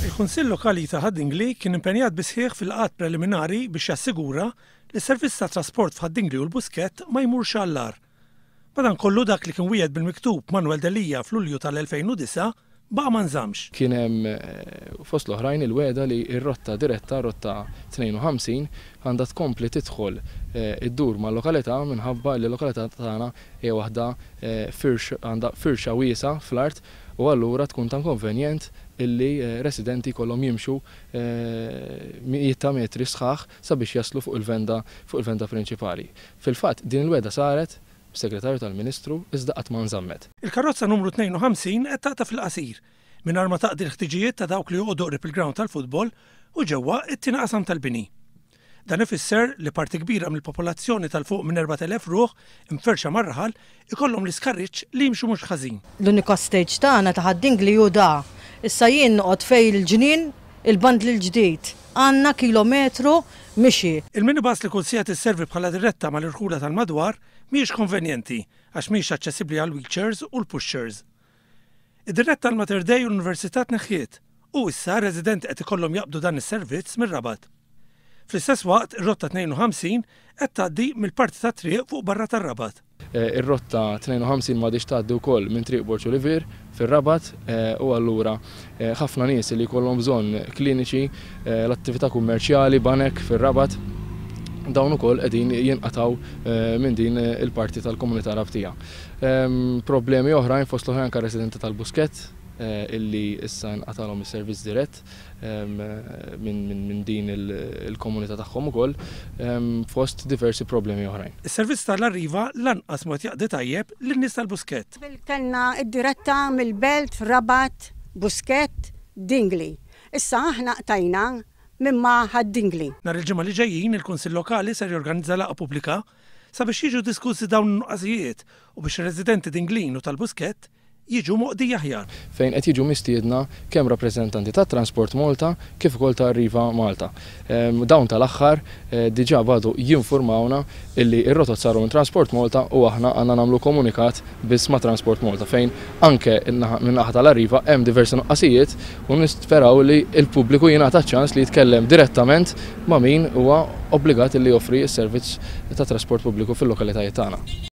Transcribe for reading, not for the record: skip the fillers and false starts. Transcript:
Il-Kunsill Lokali ta' Ħad-Dingli kien impenjat bis-sħiħ fil-laqgħat preliminari biex jassigura li s-servizz ta' trasport f'Ħad-Dingli u l-Buskett ma jmurx għall-agħar. Madankollu dak li kien wiegħed bil-miktub Manuel Delia f'Lulju tal-2009 baqa' ma nżammx. Kien hemm fost l-oħrajn il-wegħda li r-rotta diretta, rotta 52, għandha tkompli tidħol iddur mal-lokalità minħabba li l-lokalità tagħna hija waħda firx għandha firxa wiesgħa fl-art u allura tkun ta' inkonvenjent illi residenti jkollhom jimxu mijiet ta' metri sħaħ sabiex jaslu fuq il-venda fuq il-venda prinċipali. Fil-fatt din il-wegħda saret mis-Segretarju tal-Ministru iżda qatt ma nżammet. Il-karozza numru 52 qed taqta' fil-qasir, mingħajr ma taqdi l-ħtiġijiet ta' dawk li joqogħdu qrib il-grawnd tal-futbol u ġewwa t-tieni qasam tal-bini. Dan ifisser li parti kbira mill-popolazzjoni tal fuq minn 4,000 ruħ imferrxa mar-raħal ikollhom l-iskarriġġ li jimxu mhux ħażin. L-unika stage tagħna ta' Ħad-Dingli hu da. Issa jien noqgħod fejn il-ġnien il-bandli l-ġdid. Għandna kilometru mixi. Il-minibus li kull siegħa tisservi bħala diretta mal-irħula tal-madwar mhijiex konvenjenti għax mhijiex aċċessibbli għall-wheelchairs u l-pushchairs. Id-diretta għal Mater Dei u l-Università tneħħiet u issa r-residenti qed ikollhom jaqbdu dan is-servizz mir-Rabat. Fl-istess waqt, ir-rotta 52 qed tgħaddi mill-parti tat-triq fuq barra tar-Rabat. Ir-rotta 52 m'għadhiex tgħaddi wkoll minn Triq Borg Olivier fir-Rabat u allura ħafna nies li jkollhom bżonn kliniċi, l-attività kummerċjali, banek fir-Rabat, dawn ukoll qegħdin jinqatgħu minn din il-parti tal-komunità Rabtija. Problemi oħrajn fost l-oħrajn anke residenti tal-Buskett illi issa nqatalhom is-servizz dirett minn din il-komunità tagħhom ukoll fost diversi problemi oħrajn. Is-servizz tal-Arriva lanqas mhu qed jaqdi tajjeb lin-nies tal-Buskett. Qabel kellna d-diretta mill-Belt, Rabat, Buskett, Dingli. Issa aħna qtajna minn ma' Ħad-Dingli. Nhar il-Ġimgħa li ġejjin il-Kunsill Lokali ser jorganizza laqgħa pubblika sabiex jiġu diskussi dawn in-nuqqasijiet u biex ir-residenti Dinglin u tal-Buskett jiġu moqdija aħjar. Fejn qed jiġu mistiedna kemm rappreżentanti ta' Transport Malta kif ukoll ta' Arriva Malta. Dawn tal-aħħar diġà badu jinfurmawna illi r-rotot saru minn Transport Malta u aħna għandna nagħmlu komunikat biss ma' Transport Malta fejn anke min-naħa tal-Arriva hemm diversi nuqqasijiet u nisperaw li l-pubbliku jingħata ċ-ċans li jitkellem direttament ma' min huwa obbligat illi joffri s-servizz ta' trasport pubbliku fil-lokalitajiet tagħna.